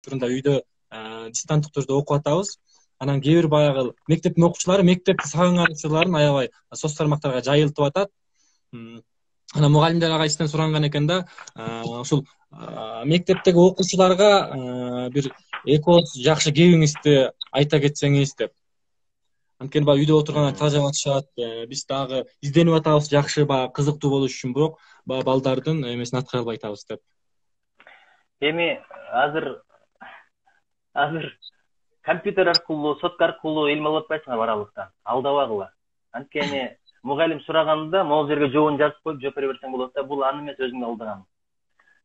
учурунда үйдө дистанттык түрдө окуп атабыз. Анан кээ бир баягы мектептин окуучулары мектепти сагынган учурларын аябай соц тармактарга жайылтып атат. Анан мугалимдер ага эстен суранган экен да, ушул мектептеги окуучуларга бир эки ооз жакшы кебиңизди айта кетсеңиз деп. Анткени баягы үйдө отурганда тажап атышат, биз дагы изденип атабыз жакшы, баягы кызыктуу болуш үчүн, бирок баягы балдардын эмесин аткара албай атабыз деп. Эми азыр компьютер аркылуу, сотка аркылуу илим алып атпайсыңар баралыктан. Алдабагыла. Анткени мугалим сураганда могул жерге жообун жазып коюп жооп бере берсең болот да, бул аны эмес өзүңдү алдаганың.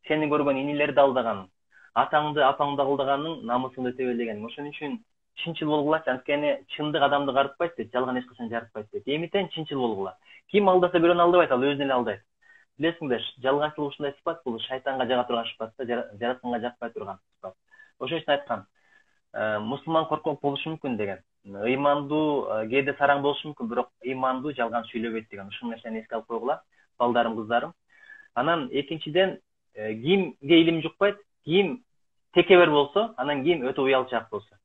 Сени көргөн инилерди алдаганың, атаңды, апаңды алдаганың, намысыңды тебелегениң. Ошон үчүн чынчыл болгулачы, анткени чындык адамды карытпайт дейт, жалган эч качан жарытпайт дейт. Эмитен чынчыл болгула. Ким алдаса бирөөнү алдабайт, ал өзүн эле алдайт. Билесиңдер, жалганчылык ушундай сыпат, бул шайтанга жага турган сыпат да, жаратканга жакпай турган сыпат. Ошон үчүн айткан, мусулман коркок болушу мүмкүн деген. Ыймандуу кээде сараң болушу мүмкүн, бирок ыймандуу жалган сүйлөбөйт деген. Ушул нерсени эске алып койгула, балдарым, кыздарым. Анан экинчиден, кимге илим жукпайт, ким текебер болсо, анан ким өтө уялчаак болсо.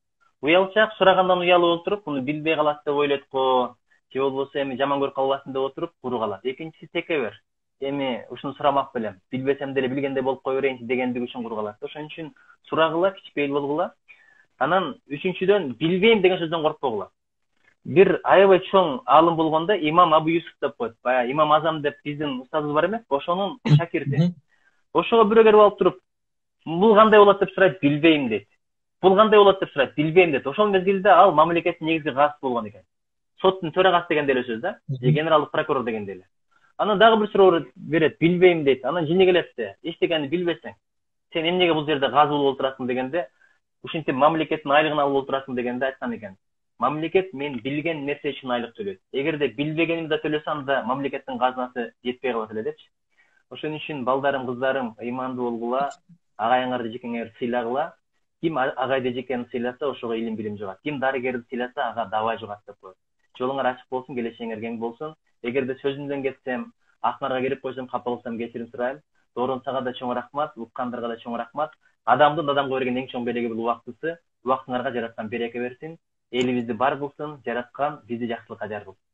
Уялчаак сурагандан уялып отуруп, муну билбей калат деп ойлойт го, же болбосо эми жаман көрүп калбасын деп отуруп куру калат. Экинчиси текебер. Эми ушуну сурамак белем, билбесем деле билгендей болуп кой берейинчи дегендиги үчүн куру калат. Ошон үчүн сурагыла, кичпейил болгула. Анан үчүнчүдөн, билбейм деген сөздөн коркпогула. Бир аябай чоң аалым болгондо имам Абу Юсуф деп коет. Баягы имам Азам деп биздин устазыбыз бар эмес, ошонун шакирти. Ошого бирөө келип алып туруп, бул кандай болот деп сурайт, билбейм дейт. Бул кандай болот деп сурайт, билбейм дейт. Ошол мезгилде ал мамлекеттин негизги каазысы болгон экен. Соттун төрагасы дегенде эле сөз да, же генералдык прокурор дегенде эле. Анан дагы бир суроо берет, билбейм дейт. Анан жини келет да, эчтекени билбесең, сен эмнеге бул жерде казы болуп отурасың дегенде, ушинтип мамлекеттин айлыгын алып отурасың дегенде айткан экен. Мамлекет мен билген нерсе үчүн айлык төлөйт. Эгерде билбегенимди төлөсө, анда мамлекеттин казынасы жетпей калат эле депчи. Ошон үчүн балдарым, кыздарым, ыймандуу болгула, агайыңарды жекеңер сыйлагыла. Ким агайды жекени сыйласа, ошого илим билим жугат. Ким дарыгерди сыйласа, ага давай жугат деп коет. Жолуңар ачык болсун, келечегиңер кең болсун. Эгерде сөзүмдөн кетсем, акнарга келип койсом, капа кылсам кечирим сурайм. Дооронсага да чоң рахмат, уккандарга да чоң рахмат. Адамдын адамга берген эң чоң белеги бул убактысы. Убактыңарга жараткан береке берсин. Элибизди бар кылсын, жараткан бизди жакшылыкка жаргылсын.